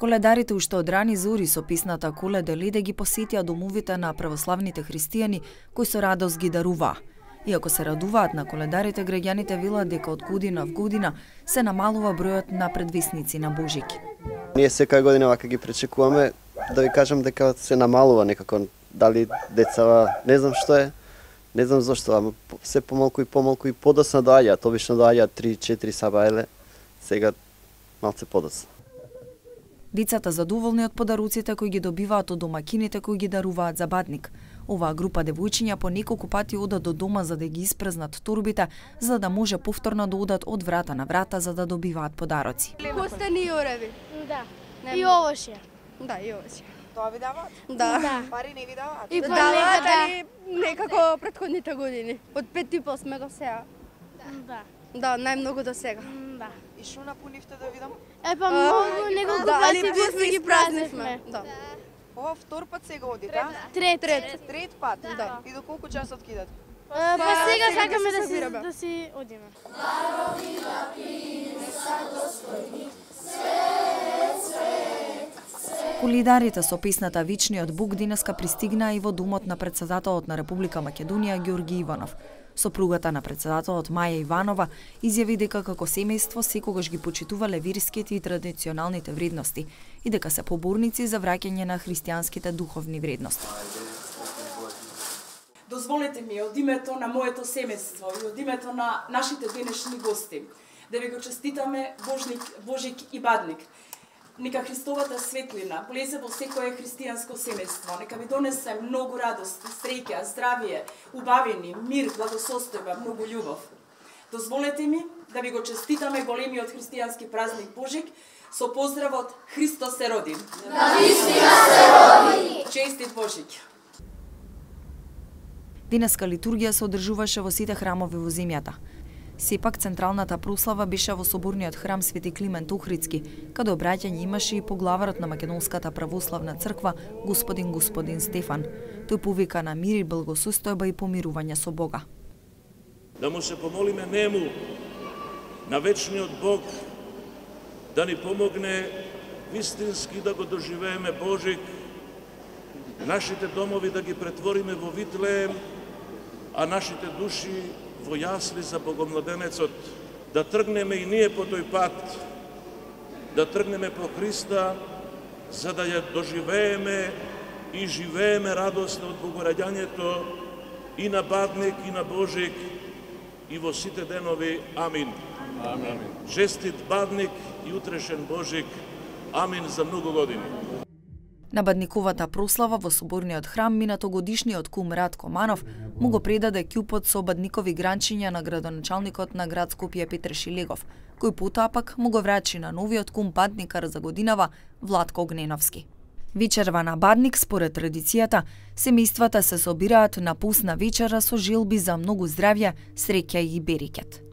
Коледарите уште од рани зори со песната Коледа леде ги посетија домовите на православните христијани кои со радост ги даруваа. Иако се радуваат на коледарите, граѓаните велат дека од година в година се намалува бројот на предвесници на Божик. Ние секоја година вака ги пречекуваме, да ви кажам дека се намалува некако, дали децава, не знам што е, не знам зошто, ама се помалку и подоцна доаѓаат, обично доаѓаат 3-4 сабајле, сега малце подоцна. Децата задоволни од подаруците кои ги добиваат од домакините кои ги даруваат за бадник. Оваа група девојчиња по неколку пати одат до дома за да ги испразнат торбите, за да може повторно да одат од врата на врата за да добиваат подароци. Костени и ореви. Да. И овошје. Да, и овошје. Тоа ви даваат? Да. Пари не ви даваат? И даваат, али некако претходните години. Од 5,5 сме до сега. Да. Да, најмногу до сега. Да. И шо напунивте да видам? Па многу неколку али пати плюс ги ги празнивме. Да. Ова втор пат сега одите, а? Трет пат? Да. И до колку часот кидат? Па сега сакаме се собираме. да си одиме. Колидарите со песната Вечниот Бог денеска пристигнаа и во домот на претседателот на Република Македонија Ѓорги Иванов. Сопругата на претседателот Маја Иванова изјави дека како семејство секогаш ги почитувале верските и традиционалните вредности и дека се поборници за враќање на христијанските духовни вредности. Дозволете ми од името на моето семејство и од името на нашите денешни гости да ви го честитаме Божик и Бадник. Нека Христовата светлина влезе во секое христијанско семејство. Нека ви донесе многу радост, среќа, здравие, убавини, мир, благосостојба, многу љубов. Дозволете ми да ви го честитаме големиот христијански празник Божик со поздравот Христос се роди. Навистина се роди. Честит Божик. Денеска литургија се одржуваше во сите храмови во земјата. Сепак централната прослава беше во соборниот храм Свети Климент Охридски, каде обраќање имаше и поглаварот на Македонската православна црква господин Стефан. Тој повика на мир и благосостојба и помирување со Бога. Да му се помолиме нему, на вечниот Бог, да ни помогне вистински да го доживееме Божик, нашите домови да ги претвориме во Витлеем, а нашите души во јасли за Богомладенецот, да тргнеме и ние по тој пат, да тргнеме по Христа, за да ја доживееме и живееме радосно од Богораѓањето и на Бадник и на Божик и во сите денови. Амин. Амин. Честит Бадник и утрешен Божик. Амин за многу години. На бадниковата прослава во соборниот храм минатогодишниот кум Радко Манов му го предаде ќупот со бадникови гранчиња на градоначалникот на град Скопје Петре Шилегов, кој потоа пак му го врачи на новиот кум бадникар за годинава Владко Огненовски. Вечерва на Бадник, според традицијата, семејствата се собираат на пусна вечера со желби за многу здравје, среќа и берекет.